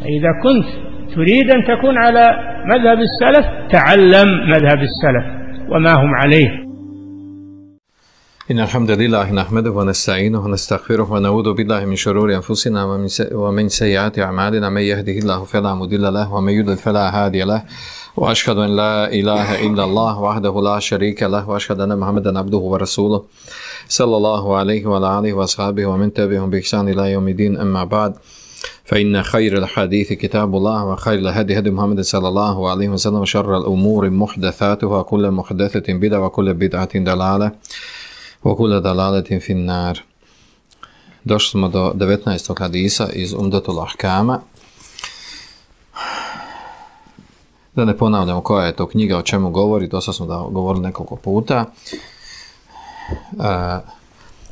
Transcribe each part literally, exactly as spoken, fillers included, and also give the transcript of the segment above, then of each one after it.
إذا كنت تريد أن تكون على مذهب السلف تعلم مذهب السلف وما هم عليه. إن الحمد لله نحمده ونستعينه ونستغفره ونعوذ بالله من شرور أنفسنا ومن سيئات أعمالنا من يهده الله فلا مضل له ومن يضلل فلا هادي له وأشهد أن لا إله إلا الله وحده لا شريك له وأشهد أن محمدا عبده ورسوله صلى الله عليه وعلى آله وأصحابه ومن تبعهم بإحسان إلى يوم الدين. أما بعد فإن خير الحديث كتاب الله وخير الهدي هدي محمد صلى الله عليه وسلم وشر الأمور محدثاتها كل محدثة بدعة وكل بدعة ضلالة وكل ضلالة في النار. Došli smo do devetnaestog hadisa iz Umdatul Ahkama. Da ne ponavljamo koja je to knjiga, o čemu govori, dosta smo da govorili nekoliko puta. Uh,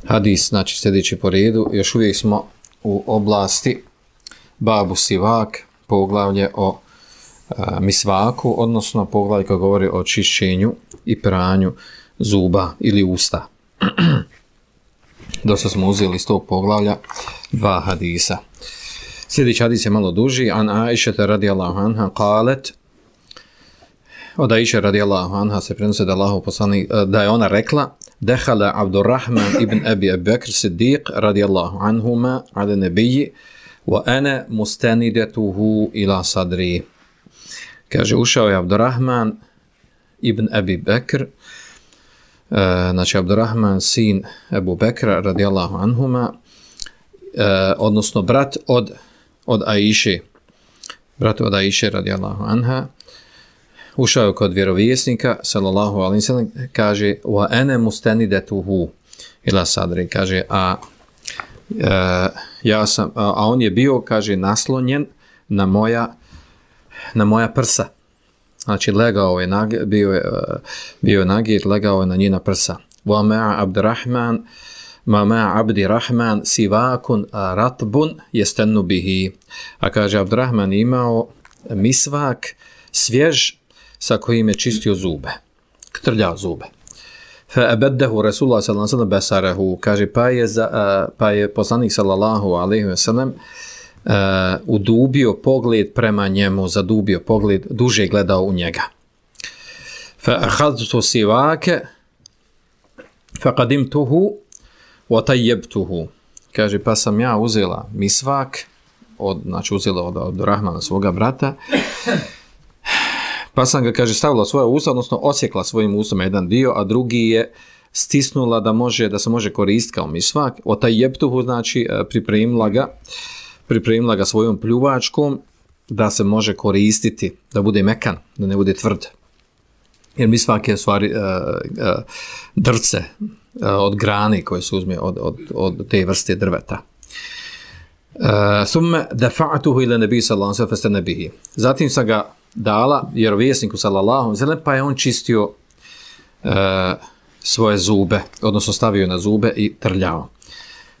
hadis, znači sljedeći po redu, još uvijek smo u oblasti Babu Sivak, poglavlje o uh, misvaku, odnosno poglavlje koje govori o čišćenju i pranju zuba ili usta. Dosta smo uzeli iz tog poglavlja dva hadisa. Sljedeći hadis je malo duži. An Aishata radijallahu anha qalet, od Aisha radijallahu anha se prenosi da Allahu poslanik, da je ona rekla: Dehala Abdurrahman ibn Abi Bakr Siddiq radijallahu anhuma ala nabiyyi wa ana mustanidatuhu ila sadri. Kaže, ušao je Abdurrahman ibn Abi Bakr, Uh, znači Abdurrahman sin Ebu Bekra radijallahu anhuma, uh, odnosno brat od od Aiše, brat od Aiše radijallahu anha, ušao je kod vjerovjesnika sallallahu alejhi ve sellem, kaže wa ana mustanidatuhu ila sadri, kaže a uh, ja sam a, a on je bio, kaže, naslonjen na moja na moja prsa. Znači, legao je, nag, bio je, bio je nagir, legao je na njena prsa. Wa ma'a Abdurrahman, ma ma'a Abdi Rahman, sivakun ratbun jestennu bihi. A kaže, Abdurrahman imao misvak svjež sa kojim je čistio zube, trljao zube. Fa abaddahu Rasulullah sallallahu alejhi ve sellem basarahu, kaže, pa je, za, pa je poslanik sallallahu alejhi ve sellem Uh, udubio pogled prema njemu, zadubio pogled, duže gledao u njega. Fa akhadtu sivake fa qadimtuhu wa tayyibtuhu, kaže, pa sam ja uzela misvak, od, znači uzela od, od Rahmana, svoga brata, pa sam ga, kaže, stavila svoje usta, odnosno osjekla svojim ustom jedan dio, a drugi je stisnula da može, da se može koristiti kao misvak. Wa tayyibtuhu, znači pripremila ga pripremila ga svojom pljuvačkom da se može koristiti, da bude mekan, da ne bude tvrd. Jer misvak je stvari uh, uh, drce uh, od grane koje se uzme od, od, od te vrste drveta. Thumma dafa'tuhu ila nabi sallallahu alejhi ve sellem bihi. Zatim sam ga dala vjerovjesniku sallallahu alejhi ve sellem, pa je on čistio uh, svoje zube, odnosno stavio na zube i trljao.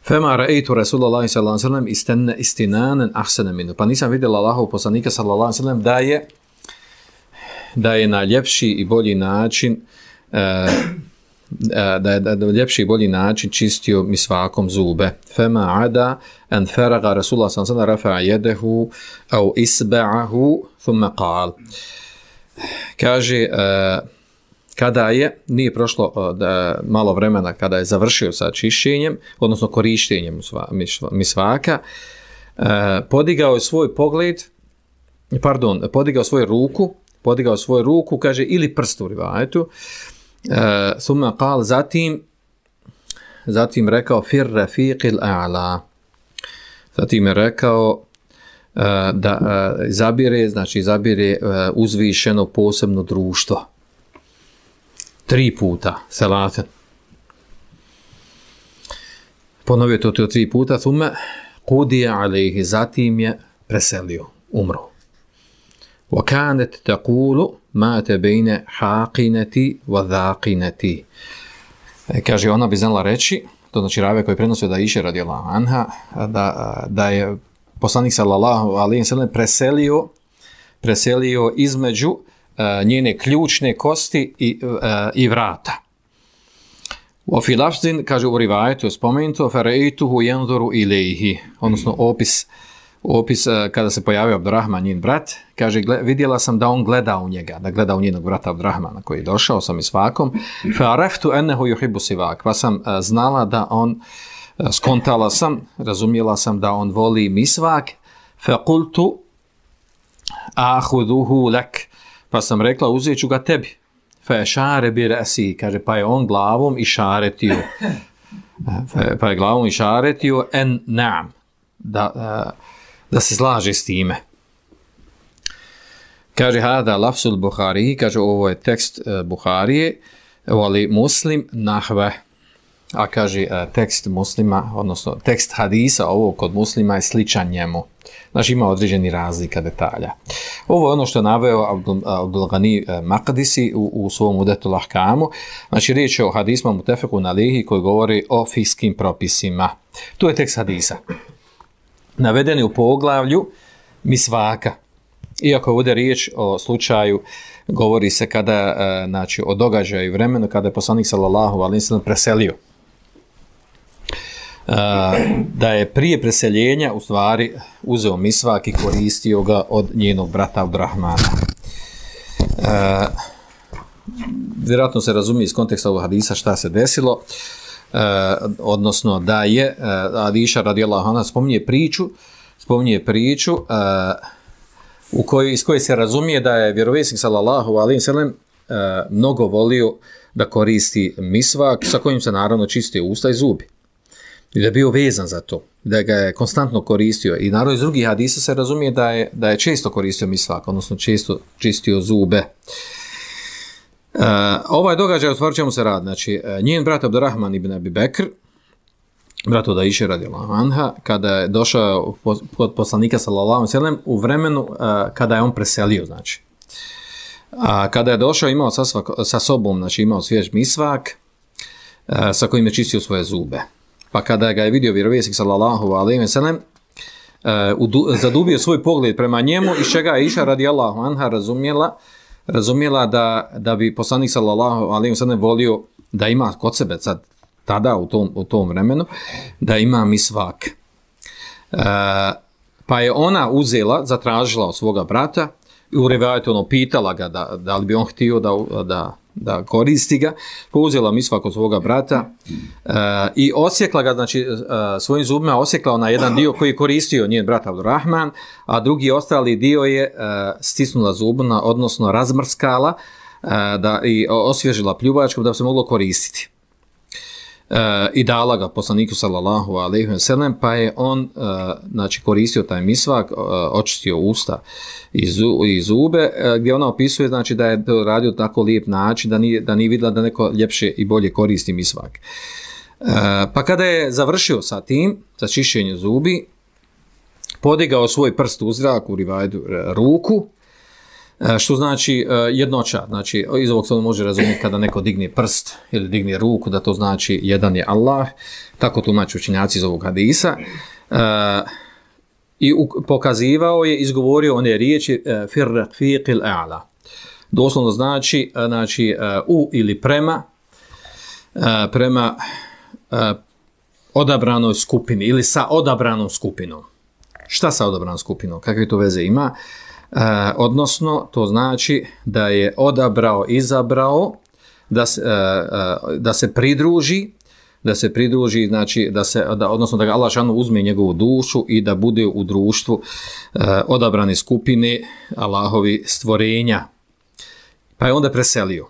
Fema ra'aytu Rasulullah sallallahu alejhi ve sellem istanna istinanan ahsana minhu. Pa nisam vidjela Allahov poslanika sallallahu alejhi ve sellem da je da je na ljepši i bolji način uh, da je na ljepši i bolji način čistio misvakom zube. Fema ada an faraga Rasulullah sallallahu alejhi ve sellem rafa'a yadahu aw isba'ahu thumma qala. Kaže, uh, kada je, nije prošlo da, malo vremena kada je završio sa čišćenjem, odnosno korištenjem misvaka, eh, podigao je svoj pogled, pardon, podigao svoju ruku, podigao svoju ruku, kaže, ili prst u rivajetu, eh, summa qal, zatim, zatim rekao, fir rafiqil a'la, zatim je rekao, eh, da eh, zabire, znači zabire eh, uzvišeno posebno društvo. Tri puta, selaten. Ponovio to, to tri puta, thumma qudija alejhi, zatim je preselio, umro. Wa kanet taqulu mate bejne haqineti wa dhaqineti. Kaže, ona bi znala reći, to znači ravija koji prenosio da Aisha radijallahu anha, da, da je poslanik sallallahu alejhi ve sellem preselio, preselio između uh, njene ključne kosti i, uh, i vrata. U filafzin, kaže u rivajetu je spomenuto, fara'aytuhu yanzuru ilayhi, odnosno opis, opis kada se pojavio Abdurrahman, njen brat, kaže, vidjela sam da on gleda u njega, da gleda u njenog brata Abdurrahmana koji je došao sa misvakom, fa'araftu ennehu yuhibbu sivak, pa sam znala da on, skontala sam, razumjela sam da on voli misvak, fa'qultu ahuduhu lak, pa sam rekla, uzet ću ga tebi, fa'ešare bi rasi, kaže, pa je on glavom išaretio, pa je glavom išaretio en na'am, da, da se slaže s time. Kaže, hada lafsul Buhari, kaže, ovo je tekst Buharije, voli Muslim nahve, a kaže, tekst Muslima, odnosno tekst hadisa, ovo kod Muslima je sličan njemu. Znači, ima određeni razlika detalja. Ovo je ono što je naveo Abdul, Abdul Ghani Maqdisi u, u svom Udetul Ahkamu. Znači, riječ je o hadisma mutefekun alihi koji govori o fikskim propisima. Tu je tekst hadisa. Navedeni u poglavlju misvaka. Iako ovdje riječ o slučaju, govori se kada, znači, o događaju i vremenu kada je poslanik sallallahu alejhi ve sellem preselio. Da je prije preseljenja u stvari uzeo misvak i koristio ga od njenog brata Abdurrahmana. Vjerojatno se razumije iz konteksta ovog hadisa šta se desilo, odnosno da je Aisha radijallahu anha spominje priču, spominje priču u kojoj, iz koje se razumije da je vjerovjesnik sallallahu alejhi ve sellem mnogo volio da koristi misvak sa kojim se naravno čistio usta i zubi. I da je bio vezan za to, da ga je konstantno koristio. I naravno iz drugih hadisa se razumije da je, da je često koristio misvak, odnosno često čistio zube. Uh, ovaj događaj, otvorit ćemo se rad. Znači, njen brat Abdurrahman ibn Abi Bekr, brat od Aishe radijallahu anha, kada je došao kod poslanika sallallahu alejhi ve sellem u vremenu uh, kada je on preselio, znači. A kada je došao, imao sa, sa sobom, znači imao svjež misvak, uh, sa kojim je čistio svoje zube. Pa kada ga je vidio vjerovjesnik sallallahu alejhi ve sellem, uh, zadubio svoj pogled prema njemu, iz čega je Aisha radijallahu anha razumjela, razumjela da, da bi poslanik sallallahu alejhi ve sellem volio da ima kod sebe sad, tada u tom, u tom vremenu, da ima misvak. Uh, pa je ona uzela, zatražila od svoga brata i u rivajetu ono pitala ga da, da li bi on htio da, da, da koristi ga, pa uzela misvak od svoga brata uh, i osjekla ga, znači uh, svojim zubima osjekla na jedan dio koji je koristio njen brat Abdurrahman, a drugi ostali dio je uh, stisnula zubna, odnosno razmrskala uh, da, i osvježila pljuvačkom da bi se moglo koristiti. Uh, i dala ga poslaniku sallallahu alejhi ve sellem, pa je on uh, znači koristio taj misvak, uh, očistio usta i, zu, i zube, uh, gdje ona opisuje znači da je to radio tako lijep način da nije, da nije vidjela da neko ljepše i bolje koristi misvak. Uh, pa kada je završio sa tim, sa čišćenjem zubi, podigao svoj prst u zrak, u rivajetu ruku, što znači jednoća, znači iz ovog se može razumjeti kada neko digne prst ili digne ruku, da to znači jedan je Allah, tako tumače učenjaci iz ovog hadisa, i pokazivao je, izgovorio one riječi fir rafiqil a'la, doslovno znači, znači u ili prema, prema odabranoj skupini ili sa odabranom skupinom. Šta sa odabranom skupinom? Kakve to veze ima? Uh, odnosno, to znači da je odabrao, izabrao da se, uh, uh, da se pridruži, da se pridruži, znači, da se, da, odnosno da ga Allah šanu uzme njegovu dušu i da bude u društvu uh, odabrane skupine Allahovi stvorenja. Pa je onda preselio.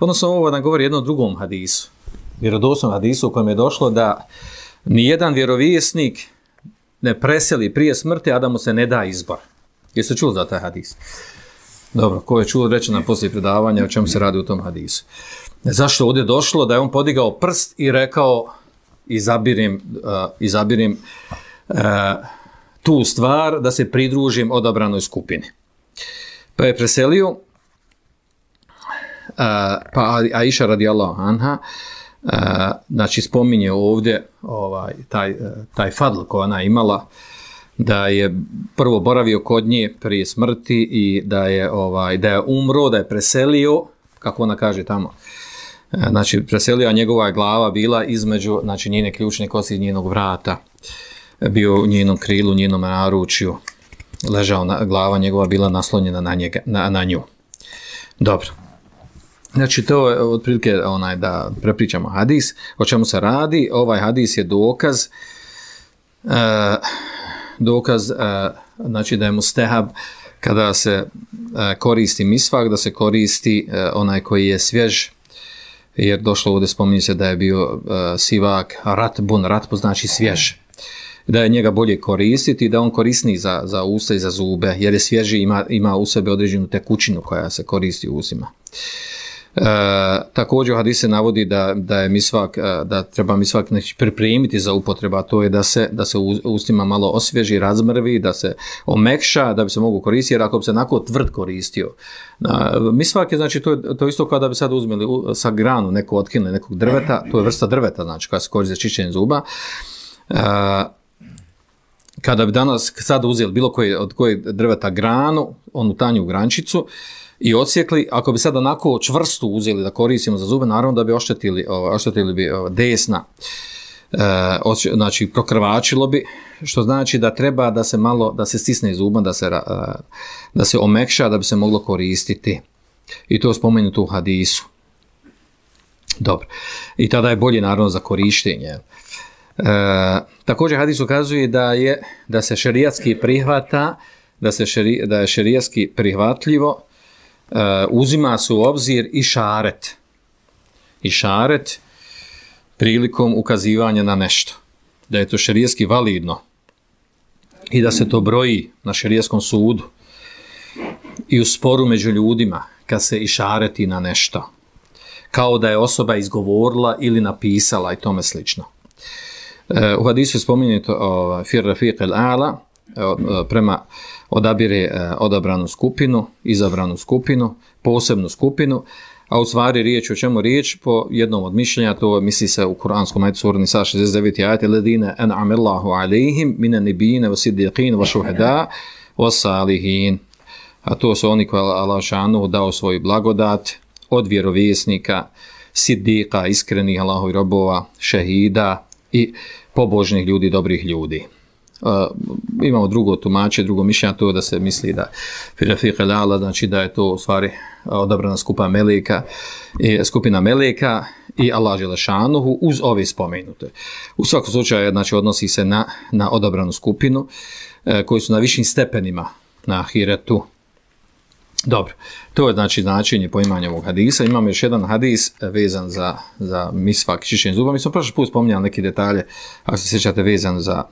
Odnosno, ovo nam govori jednom drugom hadisu, vjerodostojnom hadisu u kojem je došlo da nijedan vjerovjesnik ne preseli prije smrti, a da mu se ne da izbor. Jeste čuli za taj hadis? Dobro, ko je čuo, reći nam poslije predavanja o čemu se radi u tom hadisu. Zašto ovdje došlo da je on podigao prst i rekao izabirim, uh, izabirim uh, tu stvar da se pridružim odabranoj skupini. Pa je preselio, uh, pa Aisha radijallahu anha, uh, znači spominje ovdje ovaj, taj, uh, taj fadl koja ona imala, da je prvo boravio kod nje prije smrti i da je ovaj da je umro, da je preselio, kako ona kaže tamo. Znači preselio, a njegova glava bila između, znači njene ključne kosti i njenog vrata. bio u njenom krilu, u njenom naručju, ležao na, glava njegova bila naslonjena na, njega, na, na nju. Dobro. Znači, to je otprilike onaj, da prepričamo hadis. O čemu se radi? Ovaj hadis je dokaz uh, dokaz uh, znači da je mustehab kada se uh, koristi misvak, da se koristi uh, onaj koji je svjež, jer došlo ovdje, spominje se da je bio uh, sivak ratbun, ratbu znači svjež, da je njega bolje koristiti, da on korisni za, za usta i za zube, jer je svježi, ima, ima u sebi određenu tekućinu koja se koristi u usima. E, također u hadisu se navodi da, da je misvak, da treba misvak pripremiti za upotrebu, a to je da se, da se u ustima malo osvježi, razmrvi, da se omekša, da bi se mogu koristiti, jer ako bi se onako tvrd koristio. A, misvak je, znači, to je to isto kao da bi sad uzmeli sa granu neko otkinuli nekog drveta, to je vrsta drveta, znači, koja se koristi za čišćenje zuba. E, kada bi danas sad uzeli bilo koje od koje drveta granu, onu tanju grančicu, i odsjekli, ako bi sad onako čvrstu uzeli da koristimo za zube, naravno da bi oštetili, oštetili bi desna, e, oč, znači prokrvačilo bi, što znači da treba da se malo, da se stisne zuba, da se, da se omekša, da bi se moglo koristiti. I to je spomenuto u hadisu. Dobro. I tada je bolje naravno za korištenje. E, također hadis ukazuje da je, da se šerijatski prihvata, da, se šeri, da je šerijatski prihvatljivo, Uh, uzima se u obzir i šaret. I šaret prilikom ukazivanja na nešto. Da je to šerijski validno. I da se to broji na šerijskom sudu. I u sporu među ljudima, kad se i šareti na nešto. Kao da je osoba izgovorila ili napisala i tome slično. Uh, u hadisu je spomenuto uh, fir rafiq al-a'la, uh, prema odabire e, odabranu skupinu, izabranu skupinu, posebnu skupinu, a u stvari riječ o čemu riječ, po jednom od mišljenja, to misli se u kuranskom ajetu sura Nisa šezdeset deveti ajete, ledine en'ame Allahu alejhim mine nibine wa siddiqin wa šuhada wa salihin. A to su oni koji Allah šanu dao svoju blagodat od vjerovjesnika, siddiqa, iskrenih Allahovi robova, šehida i pobožnih ljudi, dobrih ljudi. Uh, imamo drugo tumače, drugo mišljenje, to da se misli da Rafiq al-A'la, znači da je to u stvari odabrana skupa meleka, i skupina meleka i Allah dželešanuhu uz ove spomenute. U svakom slučaju, znači, odnosi se na, na odabranu skupinu uh, koji su na višim stepenima na ahiretu. Dobro, to je znači značenje poimanja ovog hadisa. Imamo još jedan hadis vezan za, za misvak, čišćenje zuba. Mi smo prošli put spominjali neke detalje, ako se sjećate, vezan za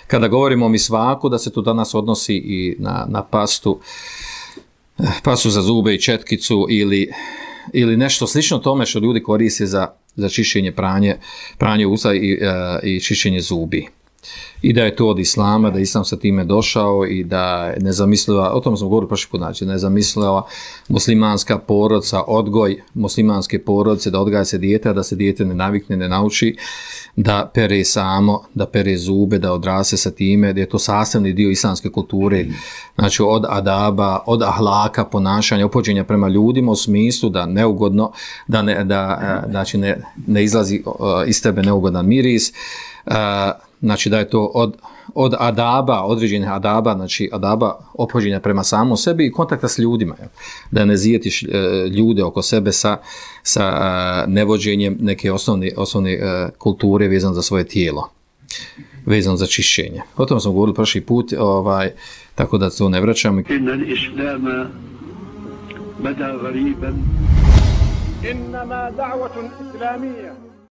kada govorimo o misvaku, da se to danas odnosi i na, na pastu, pastu za zube i četkicu ili, ili nešto slično tome što ljudi koriste za, za čišćenje, pranje, pranje usta i, uh, i čišćenje zubi. I da je to od islama, da islam sa time došao i da je nezamisliva, o tom smo govorili prošli put, znači nezamisliva muslimanska porodca, odgoj muslimanske porodce, da odgaja se dijete, da se dijete ne navikne, ne nauči, da pere samo, da pere zube, da odrase sa time, da je to sastavni dio islamske kulture, znači od adaba, od ahlaka, ponašanja, opođenja prema ljudima u smislu da neugodno, da ne, da, znači ne, ne izlazi iz tebe neugodan miris, znači da je to od, od adaba, određenih adaba, znači adaba opođenja prema samom sebi i kontakta s ljudima, da ne zijetiš ljude oko sebe sa, sa nevođenjem neke osnovne, osnovne kulture vezan za svoje tijelo, vezan za čišćenje. O tom smo govorili prošli put, ovaj, tako da to ne vraćamo. Inna islama bada gariban. Innama da'vatun islamija.